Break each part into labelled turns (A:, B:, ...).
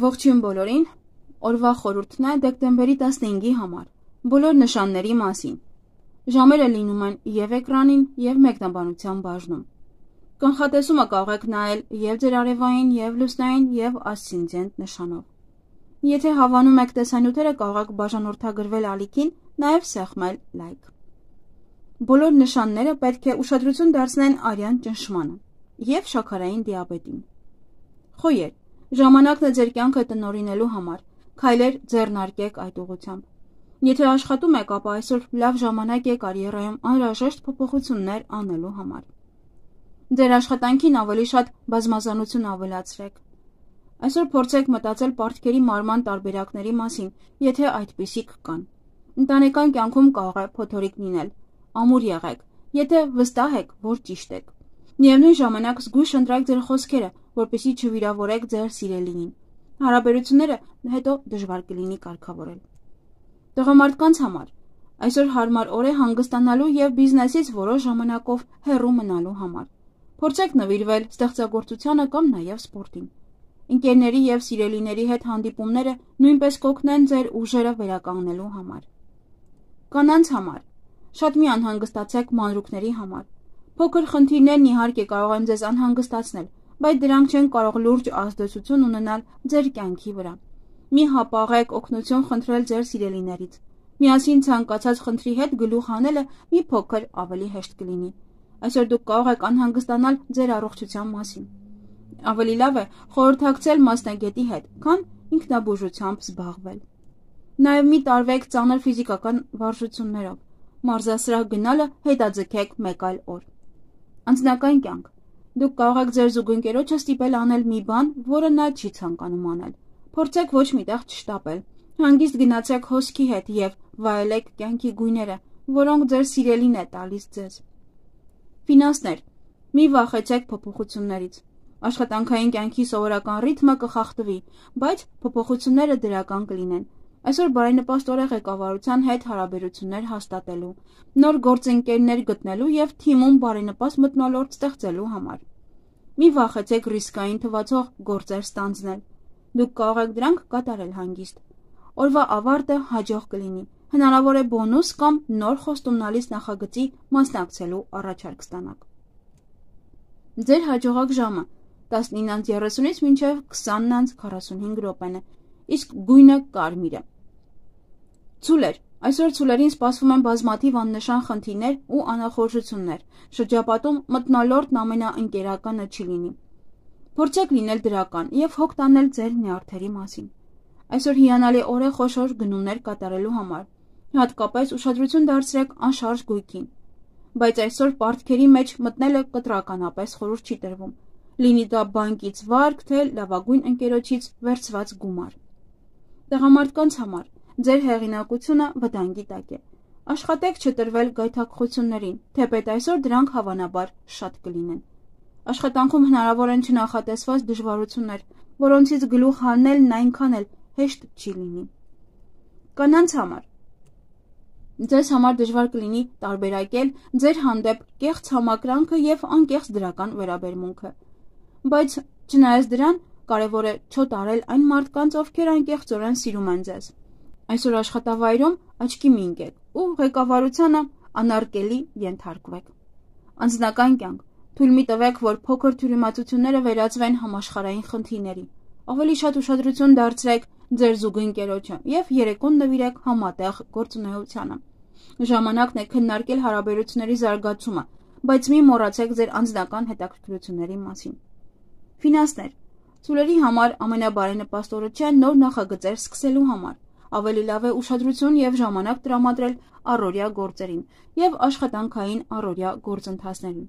A: Ողջույն բոլորին, օրվա խորհուրդն է դեկտեմբերի 15-ի համար, բոլոր նշանների մասին։ Ժամերը լինում են և էկրանին, և մեկնաբանության բաժնում։ Կանխատեսումը կարող եք նայել և ձեր արևային, և լուսնային, և ասցենդենտ նշանով։ Եթե հավանում եք տեսանյութերը, կարող եք բաժանորդագրվել ալիքին, նաև սեղմել լայք։ Բոլոր նշանները պետք է ուշադրություն դարձնեն արյան ճնշմանը և շաքարային դիաբետին։ Խոյեր, ժամանակն է ձեր կյանքը տնօրինելու համար, քայլեր ձեռնարկեք այդ ուղղությամբ։ Եթե աշխատում եք, ապա այսօր լավ ժամանակ է կարիերայում անհրաժեշտ փոփոխություններ անելու համար։ Ձեր աշխատանքին ավելի շատ բազմազանություն ավելացրեք։ Այսօր փորձեք մտածել պարտքերի մարման տարբերակների մասին, եթե այդպիսիք կան։ Ընտանեկան կյանքում կարող է փոթորիկ լինել, ամուր եղեք, եթե վստահ եք, որ ճիշտ եք։ Միևնույն ժամանակ զգույշ ընտրեք ձեր խոսքերը, որպեսզի չվիրավորեք ձեր սիրելիին։ Հարաբերությունները հետո դժվար կլինի կարգավորել։ Տղամարդկանց համար այսօր հարմար օր է հանգստանալու և բիզնեսից որոշ ժամանակով հեռու մնալու համար։ Փորձեք նվիրվել ստեղծագործությանը կամ նաև սպորտին։ Ընկերների և սիրելիների հետ հանդիպումները նույնպես կօգնեն ձեր ուժերը վերականգնելու համար։ Կանանց համար շատ մի անհանգստացեք մանրուքների համար։ Փոքր խնդիրներն իհարկե կարող են ձեզ անհանգստացնել, բայց դրանք չեն կարող լուրջ ազդեցություն ունենալ ձեր կյանքի վրա։ Մի հապաղեք օգնություն խնդրել ձեր սիրելիներից։ Միասին ցանկացած խնդրի հետ գլուխ հանելը մի փոքր ավելի հեշտ կլինի։ Այսօր դուք կարող եք անհանգստանալ ձեր առողջության մասին։ Ավելի լավ է խորհրդակցել մասնագետի հետ, քան ինքնաբուժությամբ զբաղվել։ Նաև մի տարվեք ծանր ֆիզիկական վարժություններով։ Մարզասրահ գնալը հետաձգեք մեկ այլ օր։ Անձնական կյանք։ Դուք կարող եք ձեր զուգընկերոջը ստիպել անել մի բան, որը նա չի ցանկանում անել։ Փորձեք ոչ միտեղ չշտապել։ Հանգիստ գնացեք հոսքի հետ և վայելեք կյանքի գույները, որոնք ձեր սիրելին է տալիս ձեզ։ Ֆինանսներ։ Մի վախեցեք փոփոխություններից։ Աշխատանքային կյանքի սովորական ռիթմը կխախտվի, բայց փոփոխությունները դրական կլինեն։ Այսօր բարենպաստ օր է ղեկավարության հետ հարաբերություններ հաստատելու, նոր գործընկերներ գտնելու և թիմում բարենպաստ մթնոլորտ ստեղծելու համար։ Մի վախեցեք ռիսկային թվացող գործեր ստանձնել։ Դուք կարող եք դրանք կատարել հանգիստ։ Օրվա ավարտը հաջող կլինի։ Հնարավոր է բոնուս կամ նոր խոստումնալից նախագծի մասնակցելու առաջարկ ստանաք։ Ձեր հաջողակ ժամը 19:30-ից մինչև 20:45 րոպեն է, իսկ գույնը կարմիր է։ Ցուլեր։ Այսօր ցուլերին սպասվում են բազմաթիվ աննշան խնդիրներ ու անախորժություններ։ Շրջապատում մթնոլորտն ամենաընկերականը չի լինի։ Փորձեք լինել դրական և հոգ տանել ձեր նյարդերի մասին։ Այսօր հիանալի օր է խոշոր գնումներ կատարելու համար։ Հատկապես ուշադրություն դարձրեք անշարժ գույքին։ Բայց այսօր պարտքերի մեջ մտնելը կտրականապես խորհուրդ չի տրվում։ Լինի դա բանկից վարկ, թե լավագույն ընկերոջից վերցված գումար։ Տղամարդկանց համար ձեր հեղինակությունը վտանգի տակ է։ Աշխատեք չտրվել գայթակղություններին, թեպետ այսօր դրանք հավանաբար շատ կլինեն։ Աշխատանքում հնարավոր են չնախատեսված դժվարություններ, որոնցից գլուխ հանելն այնքան էլ հեշտ չի լինի։ Կանանց համար ձեզ համար դժվար կլինի տարբերակել ձեր հանդեպ կեղծ համակրանքը և անկեղծ դրական վերաբերմունքը։ Բայց չնայած դրան, կարևոր է չոտարել այն մարդկանց, ովքեր անկեղծորեն սիրում են ձեզ։ Այսօր աշխատավայրում աչքի մի ընկեք ու ղեկավարությանը անարգելի ենթարկվեք։ Անձնական կյանք։ Թույլ մի տվեք, որ փոքր թյուրիմացությունները վերածվեն համաշխարհային խնդիրների։ Ավելի շատ ուշադրություն դարձրեք ձեր զուգընկերոջը և երեկոն նվիրեք համատեղ գործունեությանը։ Ժամանակն է քննարկել հարաբերությունների զարգացումը, բայց մի մոռացեք ձեր անձնական հետաքրքրությունների մասին։ Ֆինանսներ։ Ցուլերի համար ամենաբարենպաստ օրը չէ նոր նախագծեր սկսելու համար։ Ավելի լավ է ուշադրություն և ժամանակ տրամադրել առօրյա գործերին և աշխատանքային առօրյա գործընթացներին։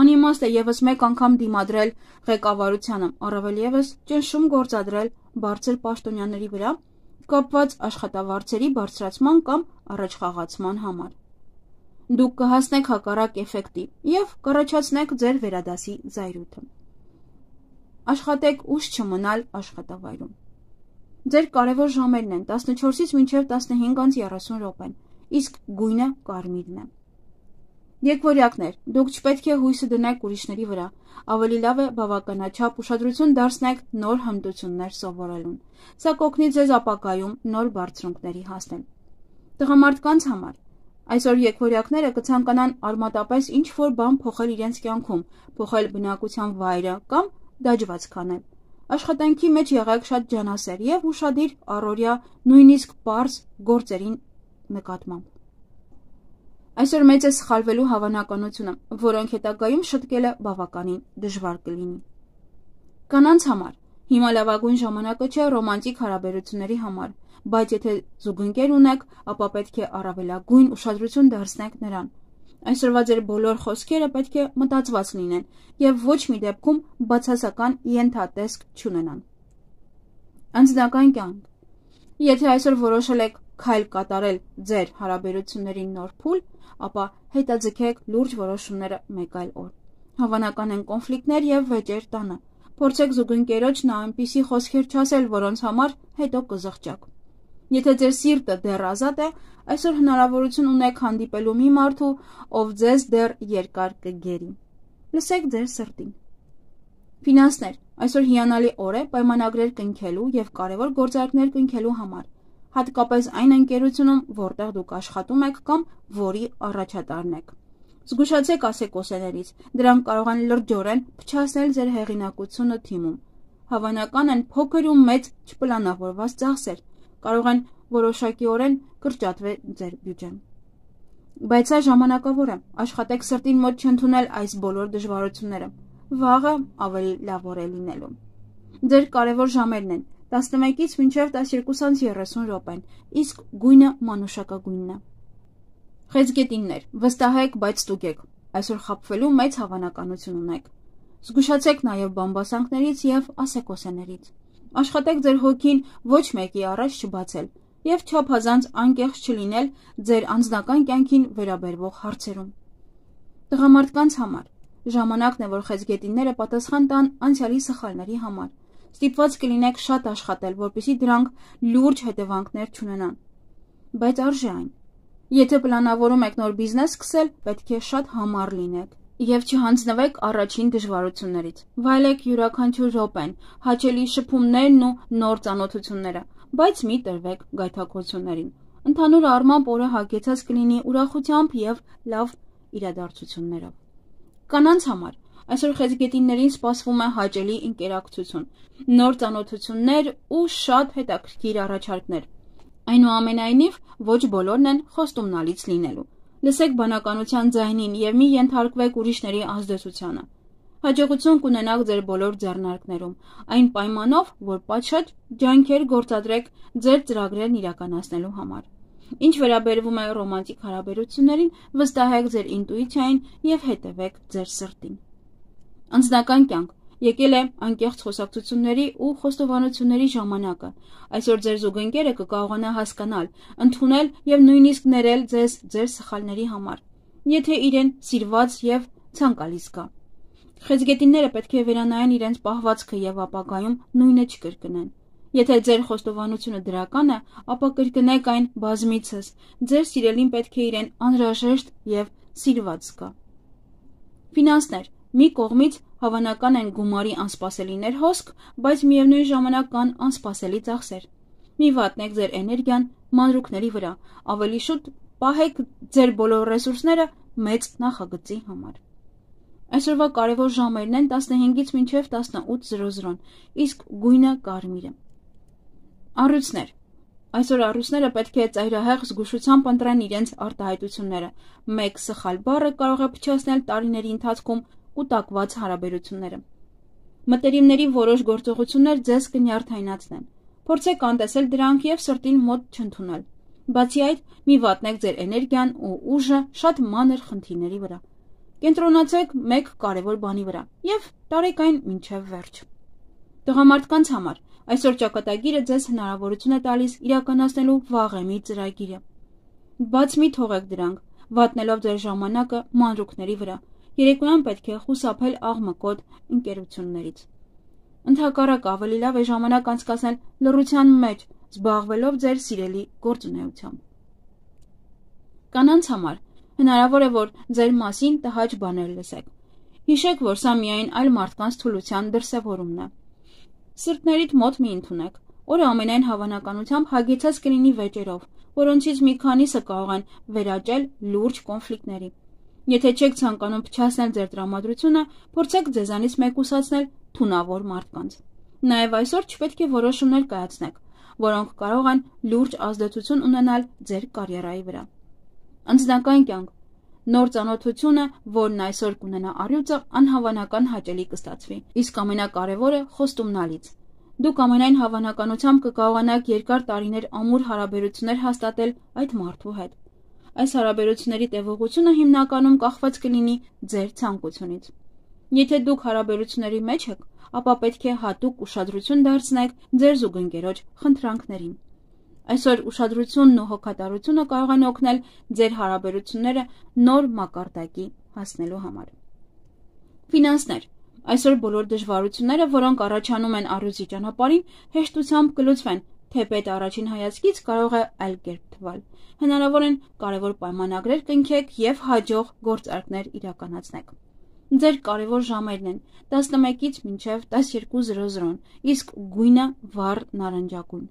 A: Անիմաստ է ևս մեկ անգամ դիմադրել ղեկավարությանը, առավել ևս ճնշում գործադրել բարձր պաշտոնյաների վրա, կապված աշխատավարձերի բարձրացման կամ առաջխաղացման համար։ Դուք կհասնեք հակառակ էֆեկտի և կառաջացնեք ձեր վերադասի զայրույթը։ Աշխատեք ուշ չմնալ աշխատավայրում։ Ձեր կարևոր ժամերն են 14-ից մինչև 15:30 րոպեն, իսկ գույնը կարմիրն է։ Եկվորյակներ, դուք չպետք է հույսը դնեք ուրիշների վրա, ավելի լավ է բավականաչափ ուշադրություն դարձնեք նոր հմտություններ սովորելուն, սա կօգնի ձեզ ապագայում նոր բարձրունքների հասնել։ Տղամարդկանց համար այսօր եկվորյակները կցանկանան արմատապես ինչ-որ բան փոխել իրենց կյանքում, փոխել բնակության վայրը կամ դաջված քանել։ Աշխատանքի մեջ եղեք շատ ջանասեր եւ ուշադիր առօրյա, նույնիսկ պարզ գործերին նկատմամբ։ Այսօր մեծ է սխալվելու հավանականությունը, որոնք հետագայում շտկելը բավականին դժվար կլինի։ Կանանց համար հիմա լավագույն ժամանակը չէ ռոմանտիկ հարաբերությունների համար, բայց եթե զուգընկեր ունեք, ապա պետք է առավելագույն ուշադրություն դարձնեք նրան։ Այսօրվա ձեր բոլոր խոսքերը պետք է մտածված լինեն եւ ոչ մի դեպքում բացասական ենթատեսք չունենան։ Անձնական կյանք։ Եթե այսօր որոշել եք քայլ կատարել ձեր հարաբերությունների նոր փուլ, ապա հետաձգեք լուրջ որոշումները մեկ այլ օր։ Հավանական են կոնֆլիկտներ եւ վեճեր տանը։ Փորձեք զուգընկերոջն այնպիսի խոսքեր չասել, որոնց համար հետո կզղջաք։ Եթե ձեր սիրտը դեռ ազատ է, այսօր հնարավորություն ունեք հանդիպելու մի մարդու, ով ձեզ դեռ երկար կգերի։ Լսեք ձեր սրտին։ Ֆինանսներ։ Այսօր հիանալի օր է պայմանագրեր կնքելու եւ կարևոր գործարքներ կնքելու համար, հատկապես այն ընկերությունում, որտեղ դուք աշխատում եք կամ որի առաջատարն եք։ Զգուշացեք ասեկոսեներից, դրանք կարող են լրջորեն փչացնել ձեր հեղինակությունը թիմում։ Հավանական են փոքր ու մեծ չպլանավորված ծախսեր, կարող են որոշակիորեն կրճատվել ձեր բյուջեն։ Բայց սա ժամանակավոր է, աշխատեք սրտին մոտ չընդունել այս բոլոր դժվարությունները, վաղը ավելի լավ օր է լինելու։ Ձեր կարևոր ժամերն են 11-ից մինչև 12:30 րոպեն, իսկ գույնը մանուշակագույնն է։ Խեցգետիններ, վստահեք, բայց ստուգեք, այսօր խաբվելու մեծ հավանականություն ունեք։ Զգուշացեք նաև բամբասանքներից եւ ասեկոսեներից։ Աշխատեք ձեր հոգին ոչ մեկի առաջ չբացել եւ չափազանց անկեղծ չլինել ձեր անձնական կյանքին վերաբերվող հարցերում։ Տղամարդկանց համար ժամանակն է, որ խեցգետինները պատասխան տան անցյալի սխալների համար։ Ստիպված կլինեք շատ աշխատել, որպեսզի դրանք լուրջ հետևանքներ չունենան։ Բայց արժե այն։ Եթե պլանավորում եք նոր բիզնես սկսել, պետք է շատ համառ լինեք եւ չհանձնվեք առաջին դժվարություններից։ Վայելեք յուրաքանչյուր րոպեն, հաճելի շփումներն ու նոր ծանոթությունները, բայց մի տրվեք գայթակղություններին։ Ընդհանուր առմամբ օրը հագեցած կլինի ուրախությամբ եւ լավ իրադարձություններով։ Կանանց համար այսօր խեցգետիններին սպասվում է հաճելի ինտերակցիա, նոր ծանոթություններ ու շատ հետաքրքիր առաջարկներ։ Այնուամենայնիվ, ոչ բոլորն են խոստումնալից լինելու։ Լսեք բանականության ձայնին եւ մի ենթարկվեք ուրիշների ազդեցությանը։ Հաջողություն կունենաք ձեր բոլոր ձեռնարկներում, այն պայմանով, որ պատշաճ ջանքեր գործադրեք ձեր ծրագրերն իրականացնելու համար։ Ինչ վերաբերվում է ռոմանտիկ հարաբերություններին, վստահեք ձեր ինտուիցիային եւ հետևեք ձեր սրտին։ Անձնական կյանք եկել է անկեղծ խոսակցությունների ու խոստովանությունների ժամանակը։ Այսօր ձեր զուգընկերը կկարողանա հասկանալ, ընդունել եւ նույնիսկ ներել ձեզ ձեր սխալների համար, եթե իրեն սիրված եւ ցանկալի զգա։ Խեցգետինները պետք է վերանայեն իրենց պահվածքը եւ ապագայում նույնը չկրկնեն։ Եթե ձեր խոստովանությունը դրական է, ապա կրկնեք այն բազմիցս։ Ձեր սիրելին պետք է իրեն անհրաժեշտ եւ սիրված զգա։ Ֆինանսներ մի կողմից հավանական են գումարի անսպասելիներ հոսք, բայց միևնույն ժամանակ կան անսպասելի ծախսեր։ Մի վատնեք ձեր էներգիան մանրուքների վրա, ավելի շուտ պահեք ձեր բոլոր ռեսուրսները մեծ նախագծի համար։ Այսօրվա կարևոր ժամերն են 15-ից մինչև 18:00, իսկ գույնը կարմիրը։ Առյուծներ։ Այսօր առյուծները պետք է ծայրահեղ զգուշությամբ ընտրեն իրենց արտահայտությունները։ Մեկ սխալ բառը կարող է փչացնել տարիների ընթացքում կուտակված հարաբերությունները։ Մտերիմների որոշ գործողություններ ձեզ կնյարդայնացնեն։ Փորձեք անտեսել դրանք եւ սրտին մոտ չընդունել։ Բացի այդ, մի վատնեք ձեր էներգիան ու ուժը շատ մանր խնդիրների վրա։ Կենտրոնացեք մեկ կարևոր բանի վրա եւ տարեք այն մինչեւ վերջ։ Տղամարդկանց համար այսօր ճակատագիրը ձեզ հնարավորություն է տալիս իրականացնելու վաղեմի ծրագիրը։ Բաց մի թողեք դրանք, վատնելով ձեր ժամանակը մանրուքների վրա։ Երեկոյան պետք է խուսափել աղմկոտ ընկերություններից։ Ընդհակառակը ավելի լավ է ժամանակ անցկасնել լռության մեջ, զբաղվելով ձեր սիրելի գործունեությամբ։ Կանանց համար Հնարավոր է, որ ձեր մասին տհաճ բաներ լսեք։ Հիշեք, որ սա միայն այլ մարդկանց թուլության դրսևորումն է։ Սրտներիդ մոտ մի ընդունեք, որը ամենայն հավանականությամբ հագեցած կլինի վեճերով, որոնցից մի քանիսը կարող են վերաճել լուրջ կոնֆլիկտների։ Եթե չեք ցանկանում փչացնել ձեր տրամադրությունը, փորձեք ձեզանից մեկուսացնել թունավոր մարդկանց։ Նաև այսօր չպետք է որոշումներ կայացնեք, որոնք կարող են լուրջ ազդեցություն ունենալ ձեր կարիերայի վրա։ Անձնական կյանք։ Նոր ծանոթությունը, որն այսօր կունենա առյուծը, անհավանական հաճելի կստացվի, իսկ ամենակարևորը խոստումնալից։ Դուք ամենայն հավանականությամբ կկարողանաք երկար տարիներ ամուր հարաբերություններ հաստատել այդ մարդու հետ։ Այս հարաբերությունների տևողությունը հիմնականում կախված կլինի ձեր ցանկությունից։ Եթե դուք հարաբերությունների մեջ եք, ապա պետք է հատուկ ուշադրություն դարձնեք ձեր զուգընկերոջ խնդրանքներին։ Այսօր ուշադրությունն ու հոգատարությունը կարող են օգնել ձեր հարաբերությունները նոր մակարդակի հասնելու համար։ Ֆինանսներ։ Այսօր բոլոր դժվարությունները, որոնք առաջանում են առյուծի ճանապարհին, հեշտությամբ կլուծվեն, թեպետ առաջին հայացքից կարող է այլ կերպ թվալ։ Հնարավոր են կարևոր պայմանագրեր կնքեք եւ հաջող գործարքներ իրականացնեք։ Ձեր կարևոր ժամերն են 11-ից մինչև 12:00, իսկ գույնը վառ նարնջագույն։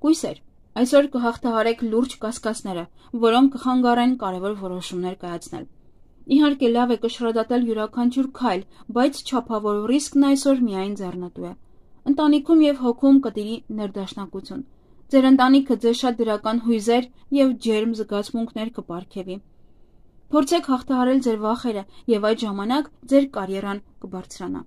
A: Կույսեր։ Այսօր կհաղթահարեք լուրջ կասկածները, որոնք կխանգարեն կարևոր որոշումներ կայացնել։ Իհարկե լավ է կշռադատել յուրաքանչյուր քայլ, բայց չափավոր ռիսկն այսօր միայն ձեռնտու է։ Ընտանիքում եւ հոգում կտիրի ներդաշնակություն։ Ձեր ընտանիքը ձեզ շատ դրական հույզեր եւ ջերմ զգացմունքներ կպարգևի։ Փորձեք հաղթահարել ձեր վախերը եւ այդ ժամանակ ձեր կարիերան կբարձրանա։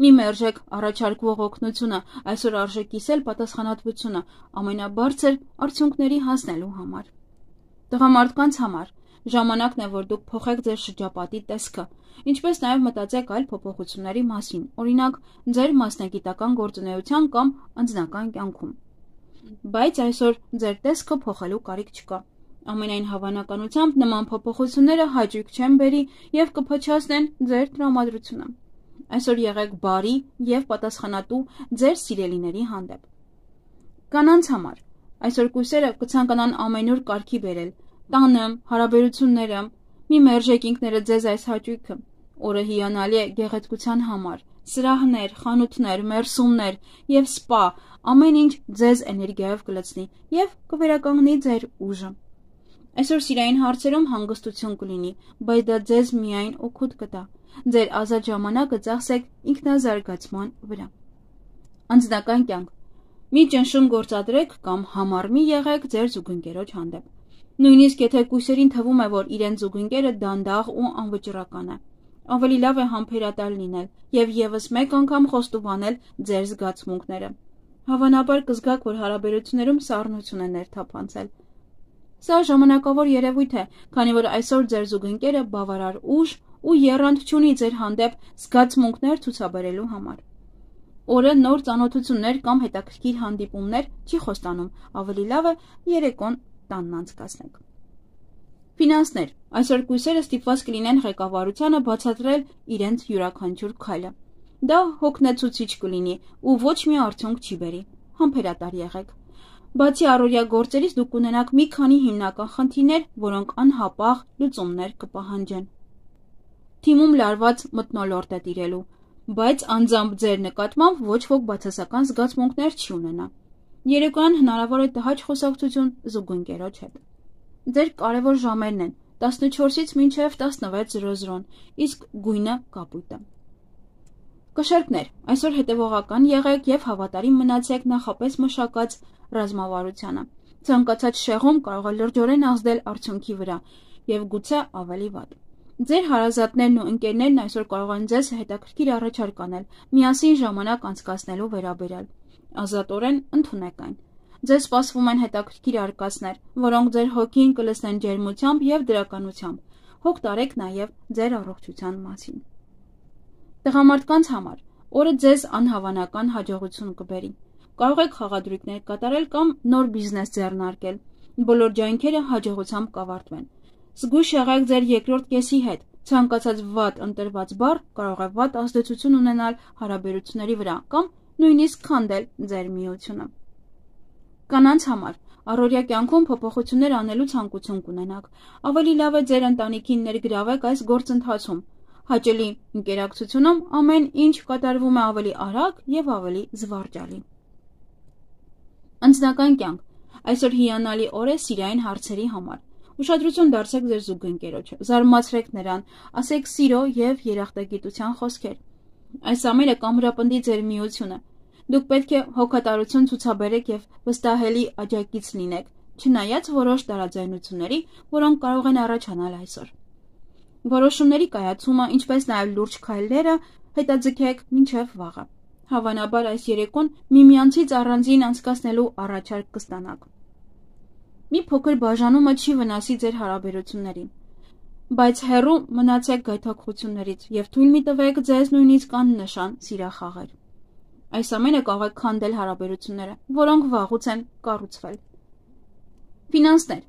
A: Մի մերժեք առաջարկվող օգնությունը, այսօր արժե կիսել պատասխանատվությունը ամենաբարձր արդյունքների հասնելու համար։ Տղամարդկանց համար ժամանակն է, որ դուք փոխեք ձեր շրջապատի տեսքը, ինչպես նաև մտածեք այլ փոփոխությունների մասին, օրինակ ձեր մասնագիտական գործունեության կամ անձնական կյանքում։ Բայց այսօր ձեր տեսքը փոխելու կարիք չկա։ Ամենայն հավանականությամբ նման փոփոխությունները հաճույք չեն բերի եւ կփչացնեն ձեր տրամադրությունը։ Այսօր եղեք բարի եւ պատասխանատու ձեր սիրելիների հանդեպ։ Կանանց համար այսօր կույսերը կցանկանան ամենուր կարգի բերել, տանը, հարաբերությունները, մի մերժեք ինքներդ ձեզ այս հաճույքը։ Օրը հիանալի է գեղեցկության համար, սրահներ, խանութներ, մերսումներ եւ սպա, ամեն ինչ ձեզ էներգիայով կլցնի եւ կվերականգնի ձեր ուժը։ Այսօր սիրային հարցերում հանգստություն կլինի, բայց դա ձեզ միայն օգուտ կտա։ Ձեր ազատ ժամանակը ծախսեք ինքնազարգացման վրա։ Անձնական կյանք։ Մի ճնշում գործադրեք կամ համառ մի եղեք ձեր զուգընկերոջ հանդեպ։ Նույնիսկ եթե կույսերին թվում է, որ իրենց զուգընկերը դանդաղ ու անվճռական է, ավելի լավ է համբերատար լինել եւ եւս մեկ անգամ խոստովանել ձեր զգացմունքները։ Հավանաբար կզգաք, որ հարաբերություններում սառնություն է ներթափանցել։ Սա ժամանակավոր երևույթ է, քանի որ այսօր ձեր զուգընկերը բավարար ուժ ու եռանդ չունի ձեր հանդեպ զգացմունքներ ցուցաբերելու համար։ Օրը նոր ծանոթություններ կամ հետաքրքիր հանդիպումներ չի խոստանում, ավելի լավ է երեկոն տանն անցկացնեք։ Ֆինանսներ։ Այսօր կույսերը ստիպված կլինեն ղեկավարությանը բացատրել իրենց յուրաքանչյուր քայլը։ Դա հոգնեցուցիչ կլինի ու ոչ մի արդյունք չի բերի։ Համբերատար եղեք։ Բացի առօրյա գործերից դուք կունենաք մի քանի հիմնական խնդիրներ, որոնք անհապաղ լուծումներ կպահանջեն։ Թիմում լարված մթնոլորտ է տիրելու, բայց անձամբ ձեր նկատմամբ ոչ ոք բացասական զգացմունքներ չի ունենա։ Երեկոյան հնարավոր է տհաճ խոսակցություն զուգընկերոջ հետ։ Ձեր կարևոր ժամերն են 14-ից մինչև 16:00, իսկ գույնը կապույտը։ Կշերկներ, այսօր հետևողական եղեք եւ հավատարիմ մնացեք նախապես մշակած ռազմավարությանը։ Ցանկացած շեղում կարող է լրջորեն ազդել արդյունքի վրա եւ գուցե ավելի վատ։ Ձեր հարազատներն ու ընկերներն այսօր կարող են ձեզ հետաքրքիր առաջարկ անել, միասին ժամանակ անցկացնելու վերաբերյալ։ Ազատորեն ընդունեք այն։ Ձեզ սպասվում են հետաքրքիր արկածներ, որոնք ձեր հոգին կլցնեն ջերմությամբ եւ դրականությամբ։ Հոգ տարեք նաեւ ձեր առողջության մասին։ Տղամարդկանց համար օրը ձեզ անհավանական հաջողություն կբերի։ Կարող եք խաղադրույքներ կատարել կամ նոր բիզնես ձեռնարկել։ Բոլոր ջանքերը հաջողությամբ կավարտվեն։ Զգույշ եղեք ձեր երկրորդ կեսի հետ։ Ցանկացած վատ ընտրված բառ կարող է վատ ազդեցություն ունենալ հարաբերությունների վրա կամ նույնիսկ քանդել ձեր միությունը։ Կանանց համար առօրյա կյանքում փոփոխություններ անելու ցանկություն կունենաք, ավելի լավ է ձեր ընտանիքին ներգրավեք այս գործընթացում։ Հաճելի ընկերակցությունում ամեն ինչ կատարվում է ավելի արագ եւ ավելի զվարճալի։ Անձնական կյանք։ Այսօր հիանալի օր է սիրային հարցերի համար։ Ուշադրություն դարձեք ձեր զուգընկերոջը, զարմացրեք նրան, ասեք սիրո եւ երախտագիտության խոսքեր։ Այս ամենը կամրապնդի ձեր միությունը։ Դուք պետք է հոգատարություն ցուցաբերեք եւ վստահելի աջակից լինեք, չնայած որոշ տարաձայնությունների, որոնք կարող են առաջանալ այսօր։ Որոշումների կայացումը, ինչպես նաեւ լուրջ քայլերը հետաձգեք մինչեւ վաղը։ Հավանաբար այս երեկոն միմյանցից առանձին անցկացնելու առաջարկ կստանաք։ Մի փոքր բաժանումը չի վնասի ձեր հարաբերություններին, բայց հեռու մնացեք գայթակղություններից եւ թույլ մի տվեք ձեզ նույնիսկ աննշան սիրախաղեր։ Այս ամենը կարող է քանդել հարաբերությունները, որոնք վաղուց են կառուցվել։ Ֆինանսներ։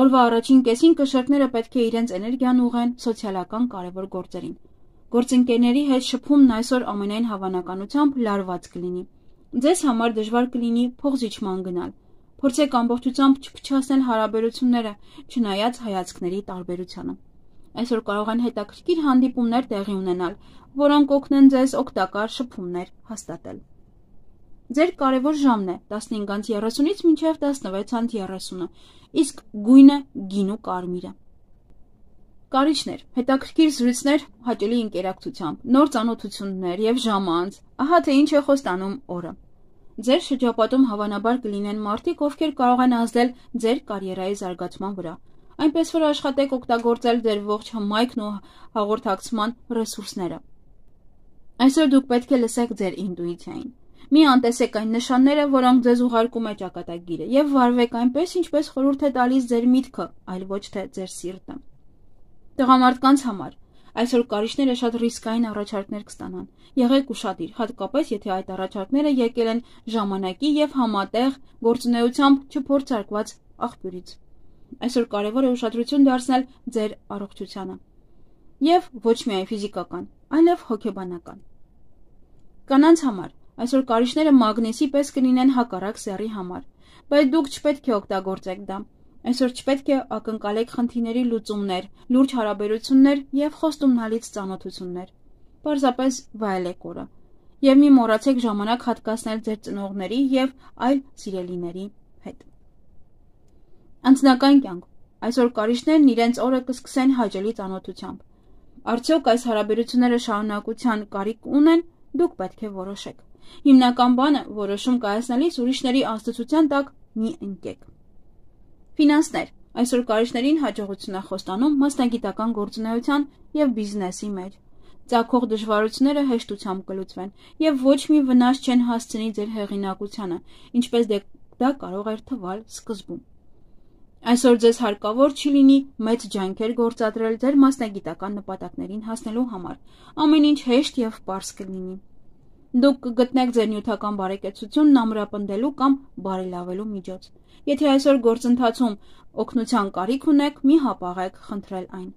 A: Օրվա առաջին կեսին կշեռքները պետք է իրենց էներգիան ուղղեն սոցիալական կարևոր գործերին։ Գործընկերների հետ շփումն այսօր ամենայն հավանականությամբ լարված կլինի։ Ձեզ համար դժվար կլինի փողզիջման գնալ։ Փորձեք ամբողջությամբ չփչացնել հարաբերությունները, չնայած հայացքների տարբերությանը։ Այսօր կարող են հետաքրքիր հանդիպումներ տեղի ունենալ, որոնք օգնեն ձեզ օգտակար շփումներ հաստատել։ Ձեր կարևոր ժամն է 15:30-ից մինչև 16:30, իսկ գույնը գինու կարմիրը։ Կարիճներ, հետաքրքիր զրույցներ հաճելի ընկերակցությամբ, նոր ծանոթություններ եւ ժամանց, ահա թե ինչ է խոստանում օրը։ Ձեր շրջապատում հավանաբար կլինեն մարդիկ, ովքեր կարող են ազդել ձեր կարիերայի զարգացման վրա, այնպես որ աշխատեք օգտագործել ձեր ողջ հմայքն ու հաղորդակցման ռեսուրսները։ Այսօր դուք պետք է լսեք ձեր ինտուիցիային։ Մի անտեսեք այն նշանները, որոնք ձեզ ուղարկում է ճակատագիրը, եւ վարվեք այնպես, ինչպես խորհուրդ է տալիս ձեր միտքը, այլ ոչ թե ձեր սիրտը։ Տղամարդկանց համար այսօր կարիճները շատ ռիսկային առաջարկներ կստանան։ Եղեք ուշադիր, հատկապես եթե այդ առաջարկները եկել են ժամանակի եւ համատեղ գործունեությամբ չփորձարկված աղբյուրից։ Այսօր կարևոր է ուշադրություն դարձնել ձեր առողջությանը եւ ոչ միայն ֆիզիկական, այլև հոգեբանական։ Կանանց համար այսօր կարիճները մագնիսի պես կլինեն հակառակ սեռի համար, բայց դուք չպետք է օգտագործեք դա։ Այսօր չպետք է ակնկալեք խնդիրների լուծումներ, լուրջ հարաբերություններ եւ խոստումնալից ծանոթություններ։ Պարզապես վայելեք օրը եւ մի մոռացեք ժամանակ հատկացնել ձեր ծնողների եւ այլ սիրելիների հետ։ Անձնական կյանք։ Այսօր կարիճներն իրենց օրը կսկսեն հաճելի ծանոթությամբ։ Արդյոք այս հարաբերությունները շարունակության կարիք ունեն, դուք պետք է որոշեք։ Հիմնական բանը որոշում կայացնելիս ուրիշների ազդեցության տակ մի ընկեք։ Ֆինանսներ։ Այսօր կարիճներին հաջողություն է խոստանում մասնագիտական գործունեության եւ բիզնեսի մեջ։ Ծագող դժվարությունները հեշտությամբ կլուծվեն եւ ոչ մի վնաս չեն հասցնի ձեր հեղինակությանը, ինչպես դա կարող էր թվալ սկզբում։ Այսօր ձեզ հարկավոր չի լինի մեծ ջանքեր գործադրել ձեր մասնագիտական նպատակներին հասնելու համար։ Ամեն ինչ հեշտ եւ պարզ կլինի։ Դուք կգտնեք ձեր նյութական բարեկեցությունն ամրապնդելու կամ բարելավելու միջոց։ Եթե այսօր գործընթացում օգնության կարիք ունեք, մի հապաղեք խնդրել այն։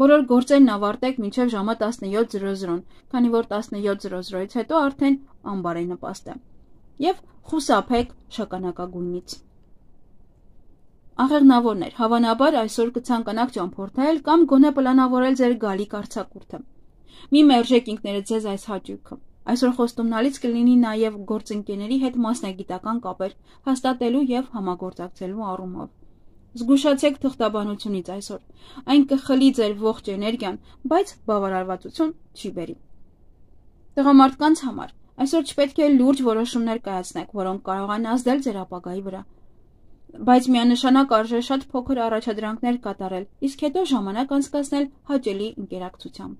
A: Բոլոր գործերն ավարտեք մինչև ժամը 17:00, քանի որ 17:00-ից հետո արդեն անբարենպաստ է։ Եվ խուսափեք շագանակագույնից։ Աղեղնավորներ, հավանաբար այսօր կցանկանաք ճամփորդել կամ գոնե պլանավորել ձեր գալիք արձակուրդը։ Մի մերժեք ինքներդ ձեզ այս հաճույքը։ Այսօր խոստումնալից կլինի նաև գործընկերների հետ մասնագիտական կապեր հաստատելու եւ համագործակցելու առումով։ Զգուշացեք թղթաբանությունից այսօր։ Այն կխլի ձեր ողջ էներգիան, բայց բավարարվածություն չի բերի։ Տղամարդկանց համար այսօր չպետք է լուրջ որոշումներ կայացնեք, որոնք կարող են ազդել ձեր ապագայի վրա։ Բայց միանշանակ արժե շատ փոքր առաջադրանքներ կատարել, իսկ հետո ժամանակ անցկացնել հաճելի ընկերակցությամբ։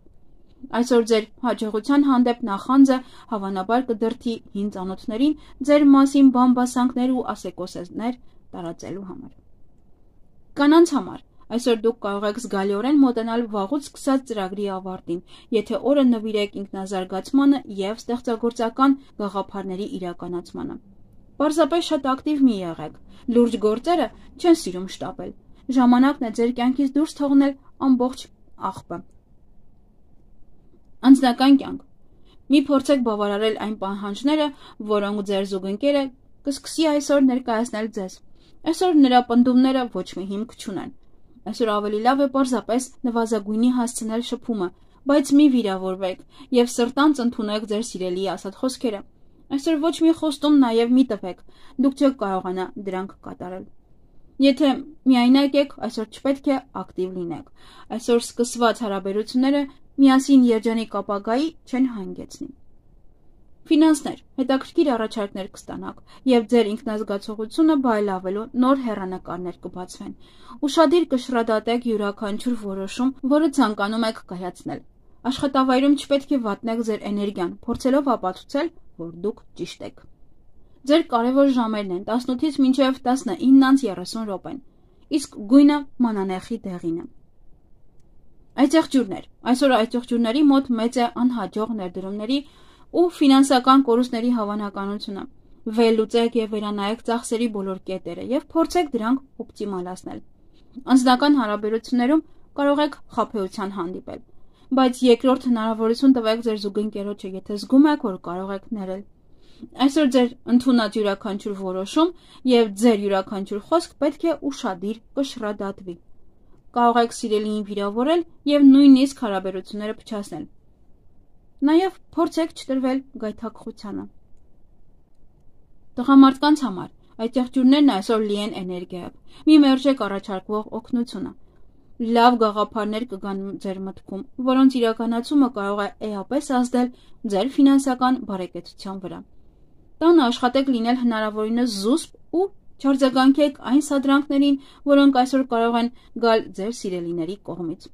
A: Այսօր ձեր հաջողության հանդեպ նախանձը հավանաբար կդրթի հին ծանոթներին ձեր մասին բամբասանքներ ու ասեկոսեզներ տարածելու համար։ Կանանց համար այսօր դուք կարող եք զգալիորեն մոտենալ վաղուց սկսած ծրագրի ավարտին, եթե օրը նվիրեք ինքնազարգացմանը եւ ստեղծագործական գաղափարների իրականացմանը։ Պարզապես շատ ակտիվ մի եղեք։ Լուրջ գործերը չեն սիրում շտապել։ Ժամանակն է ձեր կյանքից դուրս թողնել ամբողջ աղբը։ Անձնական կյանք։ Մի փորձեք բավարարել այն պահանջները, որոնք ձեր զուգընկերը կսկսի այսօր ներկայացնել ձեզ։ Այսօր նրա պնդումները ոչ մի հիմք չունեն։ Այսօր ավելի լավ է պարզապես նվազագույնի հասցնել շփումը, բայց մի վիրավորվեք եւ սրտանց ընդունեք ձեր սիրելիի ասած խոսքերը։ Այսօր ոչ մի խոստում նաեւ մի տվեք, դուք չեք կարողանա դրանք կատարել։ Եթե միայնակ եք, այսօր չպետք է ակտիվ լինեք։ Այսօր սկսված հարաբերությունները միասին երջանիկ ապագայի չեն հանգեցնի։ Ֆինանսներ, հետաքրքիր առաջարկներ կստանաք եւ ձեր ինքնազգացողությունը բայլավելու նոր հեռանկարներ կբացվեն։ Ուշադիր կշռադատեք յուրաքանչյուր որոշում, որը ցանկանում եք կայացնել։ Աշխատավայրում չպետք է վատնեք ձեր էներգիան, փորձելով ապացուցել, որ դուք ճիշտ եք։ Ձեր կարևոր ժամերն են 18-ից մինչև 19:30 րոպեն, իսկ գույնը մանանեխի դեղին է։ Այցեղջյուրներ, այսօր այցեղջյուրների մոտ մեծ է անհաջող ներդրումների ու ֆինանսական կորուստների հավանականությունը։ Վերլուծեք եւ վերանայեք ծախսերի բոլոր կետերը եւ փորձեք դրանք օպտիմալացնել։ Անձնական հարաբերություններում կարող եք խաբեության հանդիպել, բայց երկրորդ հնարավորություն տվեք ձեր զուգընկերոջը, եթե զգում եք, որ կարող եք ներել։ Այսօր ձեր ընդունած յուրաքանչյուր որոշում եւ ձեր յուրաքանչյուր խոսք պետք է ուշադիր կշռադատվի։ Կարող եք սիրելիին վիրավորել եւ նույնիսկ հարաբերությունները փչացնել։ Նաև փորձեք չտրվել գայթակղությանը։ Տղամարդկանց համար այցեղջյուրներն այսօր լի են էներգիայով։ Մի մերժեք առաջարկվող օգնությունը։ Լավ գաղափարներ կգան ձեր մտքում, որոնց իրականացումը կարող է էապես ազդել ձեր ֆինանսական բարեկեցության վրա։ Տանը աշխատեք լինել հնարավորինս զուսպ ու չարձագանքեք այն սադրանքներին, որոնք այսօր կարող են գալ ձեր սիրելիների կողմից։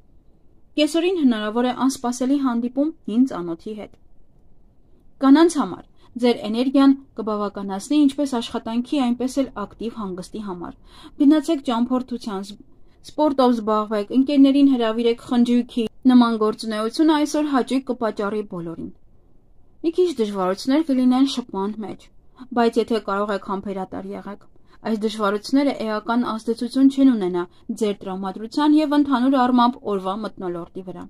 A: Կեսօրին հնարավոր է անսպասելի հանդիպում հին ծանոթի հետ։ Կանանց համար ձեր էներգիան կբավականացնի ինչպես աշխատանքի, այնպես էլ ակտիվ հանգստի համար։ Գնացեք ճամփորդության, սպորտով զբաղվեք, ընկերներին հրավիրեք խնջույքի։ Նման գործունեությունը այսօր հաճույք կպատճառի բոլորին։ Մի քիչ դժվարություններ կլինեն շփման մեջ, բայց եթե կարող եք համբերատար եղեք, այս դժվարությունները էական ազդեցություն չեն ունենա ձեր տրամադրության եւ ընդհանուր առմամբ օրվա մթնոլորտի վրա։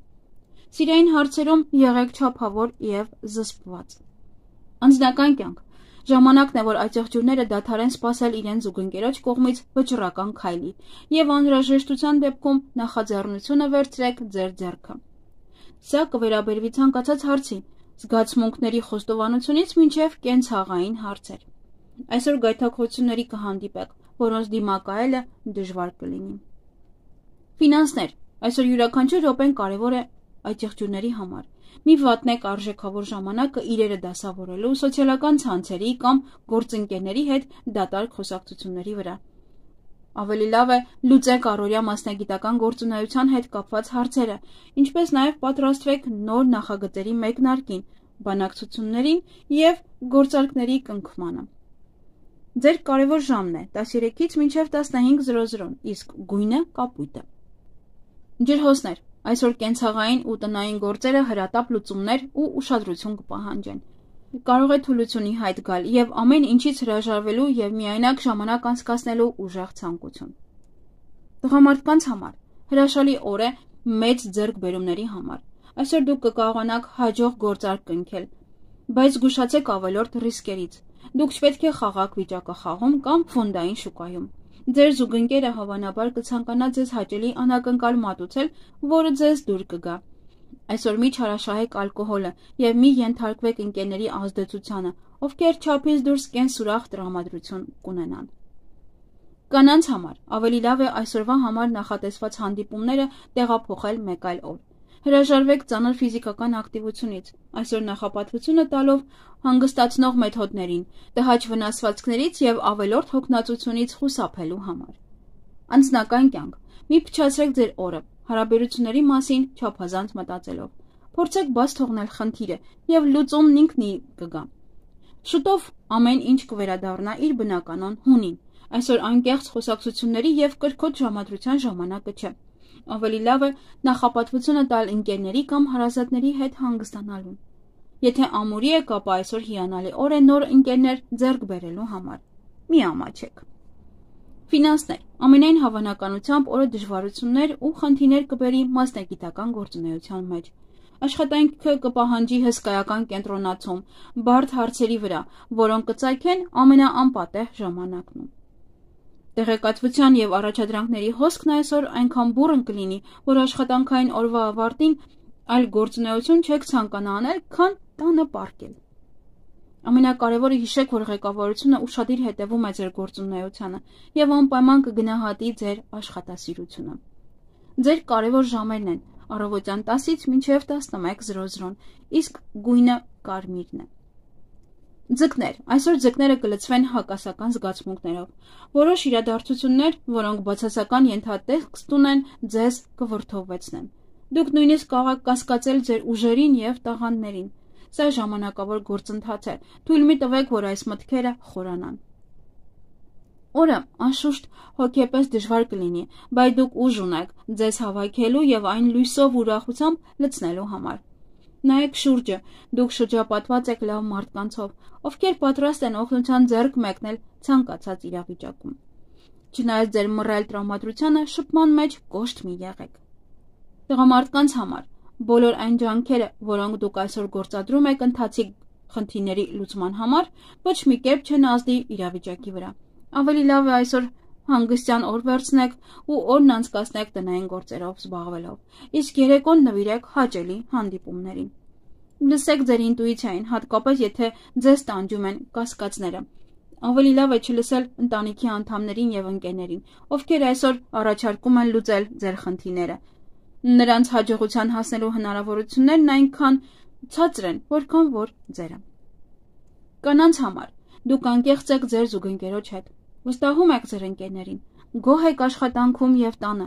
A: Սիրային հարցերում եղեք չափավոր եւ զսպված։ Անձնական կյանք ժամանակն է, որ այցեղջյուրները դադարեն սпасել իրենց զուգընկերոջ կողմից վճռական քայլի եւ անհրաժեշտության դեպքում նախաձեռնությունը վերցրեք ձեր ձեռքը։ Սա կվերաբերվի ցանկացած հարցի, զգացմունքների խոստովանությունից մինչև կենցաղային հարցեր։ Այսօր գայթակղությունների կհանդիպեք, որոնց դիմակայելը դժվար կլինի։ Ֆինանսներ, այսօր յուրաքանչյուր րոպեն կարևոր է այցեղջյուրների համար։ Մի վատնեք արժեքավոր ժամանակը իրերը դասավորելու, սոցիալական ցանցերի կամ գործընկերների հետ դատարկ խոսակցությունների վրա։ Ավելի լավ է լուծեք առօրյա մասնագիտական գործունեության հետ կապված հարցերը, ինչպես նաև պատրաստվեք նոր նախագծերի մեկնարկին, բանակցություններին եւ գործարքների կնքմանը։ Ձեր կարևոր ժամն է 13-ից մինչև 15:00, իսկ գույնը կապույտ է։ Ջրհոսներ, այսօր կենցաղային ու տնային գործերը հրատապ լուծումներ ու ուշադրություն կպահանջեն։ Կարող է թուլությունի հայտ գալ եւ ամեն ինչից հրաժարվելու եւ միայնակ ժամանակ անցկացնելու ուժեղ ցանկություն։ Տղամարդկանց համար հրաշալի օր է մեծ ձեռքբերումների համար։ Այսօր դուք կկարողանաք հաջող գործարք կնքել, բայց զգուշացեք ավելորդ ռիսկերից։ Դուք չպետք է խաղաղ վիճակախաղում կամ ֆոնդային շուկայում։ Ձեր զուգընկերը հավանաբար կցանկանա ձեզ հաճելի անակնկալ մատուցել, որը ձեզ դուր կգա։ Այսօր մի չարաշահեք ալկոհոլը եւ մի ենթարկվեք ընկերների ազդեցությանը, ովքեր չափից դուրս կենսուրախ տրամադրություն կունենան։ Կանանց համար ավելի լավ է այսօրվա համար նախատեսված հանդիպումները տեղափոխել մեկ այլ օր։ Հրաժարվեք ծանր ֆիզիկական ակտիվությունից, այսօր նախապատվությունը տալով հանգստացնող մեթոդներին, տհաճ վնասվածքներից եւ ավելորդ հոգնածությունից խուսափելու համար։ Անձնական կյանք, մի փչացրեք ձեր օրը, հարաբերությունների մասին չափազանց մտածելով։ Փորձեք բաց թողնել խնդիրը եւ լուծումն ինքնի կգա։ Շուտով ամեն ինչ կվերադառնա իր բնականon հունին։ Այսօր անկեղծ խոսակցությունների եւ կրկոտ ժամադրության ժամանակը չէ։ Ավելի լավ է նախապատվությունը տալ ընկերների կամ հարազատների հետ հանգստանալուն։ Եթե ամուրի եք, ապա այսօր հիանալի օր է նոր ընկերներ ձեռք բերելու համար։ Մի ամաչեք։ Ֆինանսներ, ամենայն հավանականությամբ օրը դժվարություններ ու խնդիրներ կբերի մասնագիտական գործունեության մեջ։ աշխատանքը կպահանջի հսկայական կենտրոնացում, բարդ հարցերի վրա, որոնք կծագեն ամենաանպատեհ ժամանակնում։ Տեղեկատվության և առաջադրանքների հոսքն այսօր այնքան բուռն կլինի, որ աշխատանքային օրվա ավարտին այլ գործունեություն չեք ցանկանա անել, քան տանը պառկել։ Ամենակարևորը հիշեք, որ ղեկավարությունը ուշադիր հետևում է ձեր գործունեությանը և անպայման կգնահատի ձեր աշխատասիրությունը։ Ձեր կարևոր ժամերն են առավոտյան 10-ից մինչև 11:00, իսկ գույնը կարմիրն է։ Ձկներ, այսօր ձկները կլցվեն հակասական զգացմունքներով։ Որոշ իրադարձություններ, որոնք բացասական ենթատեքստ ունեն, ձեզ կվրդովվեցնեն։ Դուք նույնիսկ կարող եք կասկածել ձեր ուժերին և տաղանդներին։ Սա ժամանակավոր գործընթաց է, թույլ մի տվեք, որ այս մտքերը խորանան։ Օրը անշուշտ հոգեպես դժվար կլինի, բայց դուք ուժ ունեք ձեզ հավաքելու և այն լույսով ու ուրախությամբ լցնելու համար։ Նայեք շուրջը, դուք շրջապատված եք լավ մարդկանցով, ովքեր պատրաստ են օգնության ձեռք մեկնել ցանկացած իրավիճակում։ Չնայած ձեր մռայլ տրամադրությանը, շփման մեջ կոշտ մի եղեք։ Տղամարդկանց համար բոլոր այն ջանքերը, որոնք դուք այսօր գործադրում եք ընթացիկ խնդիրների լուծման համար, ոչ մի կերպ չեն ազդի իրավիճակի վրա։ Ավելի լավ է այսօր հանգստյան օր վերցնեք ու օրն անցկացնեք տնային գործերով զբաղվելով, իսկ երեկոն նվիրեք հաճելի հանդիպումներին։ Լսեք ձեր ինտուիցիային, հատկապես եթե ձեզ տանջում են կասկածները։ Ավելի լավ է չլսել ընտանիքի անդամներին և ընկերներին, ովքեր այսօր առաջարկում են լուծել ձեր խնդիրները։ Նրանց հաջողության հասնելու հնարավորություններն այնքան ցածր են, որքան որ ձերը։ Կանանց համար դուք անկեղծ եք ձեր զուգընկերոջ հետ, վստահում եք ձեր ընկերներին, գոհ եք աշխատանքում և տանը։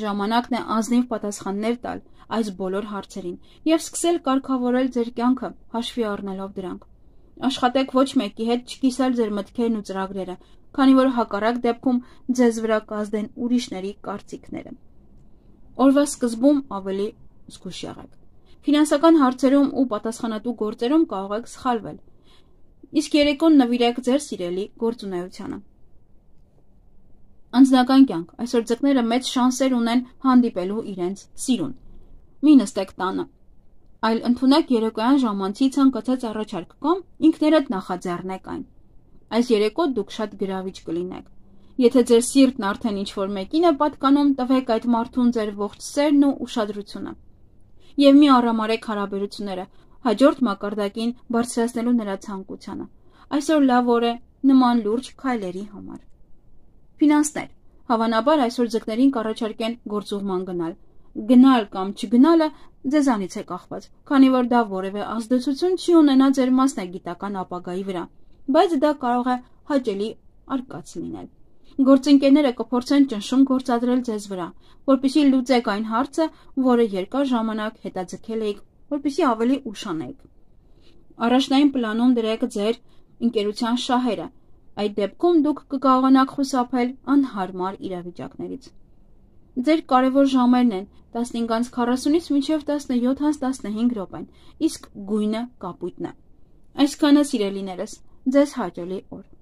A: Ժամանակն է ազնիվ պատասխաններ տալ այս բոլոր հարցերին և սկսել կարգավորել ձեր կյանքը, հաշվի առնելով դրանք։ Աշխատեք ոչ մեկի հետ չկիսել ձեր մտքերն ու ծրագրերը, քանի որ հակառակ դեպքում ձեզ վրա կազդեն ուրիշների կարծիքները։ Օրվա սկզբում ավելի զգույշ եղեք։ Ֆինանսական հարցերում ու պատասխանատու գործերում կարող եք սխալվել, իսկ երեկոն նվիրեք ձեր սիրելի գործունեությանը։ Անձնական կյանք, այսօր ձկները մեծ շանսեր ունեն հանդիպելու իրենց սիրուն։ Մի նստեք տանը, այլ ընդունեք երեկոյան ժամանցի ցանկացած առաջարկ կամ ինքներդ նախաձեռնեք այն։ Այս երեկո դուք շատ գրավիչ կլինեք։ Եթե ձեր սիրտն արդեն ինչ-որ մեկին է պատկանում, տվեք այդ մարդուն ձեր ողջ սերն ու ուշադրությունը։ Եվ մի առամարեք հարաբերությունները, հաջորդ մակարդակին բարձրացնելու նրա ցանկությանը։ Այսօր լավ օր է նման լուրջ քայլերի համար։ Ֆինանսներ, հավանաբար այսօր ձկներին կառաջարկեն գործուղման գնալ։ Գնալ կամ չգնալը ձեզանից է կախված, քանի որ դա որևէ ազդեցություն չի ունենա ձեր մասնագիտական ապագայի վրա, բայց դա կարող է հաճելի արկած լինել։ Գործընկերները կփորձեն ճնշում գործադրել ձեզ վրա, որպեսզի լուծեք այն հարցը, որը երկար ժամանակ հետաձգել էիք, որպեսզի ավելի ուշանեք։ Առաջնային պլանում դրեք ձեր ընկերության շահերը, այդ դեպքում դուք կկարողանաք խուսափել անհարմար իրավիճակներից։ Ձեր կարևոր ժամերն են 15:40-ից մինչև 17:15 րոպեն, իսկ գույնը կապույտն է։ Այսքանը, սիրելիներս, ձեզ հաճելի օր։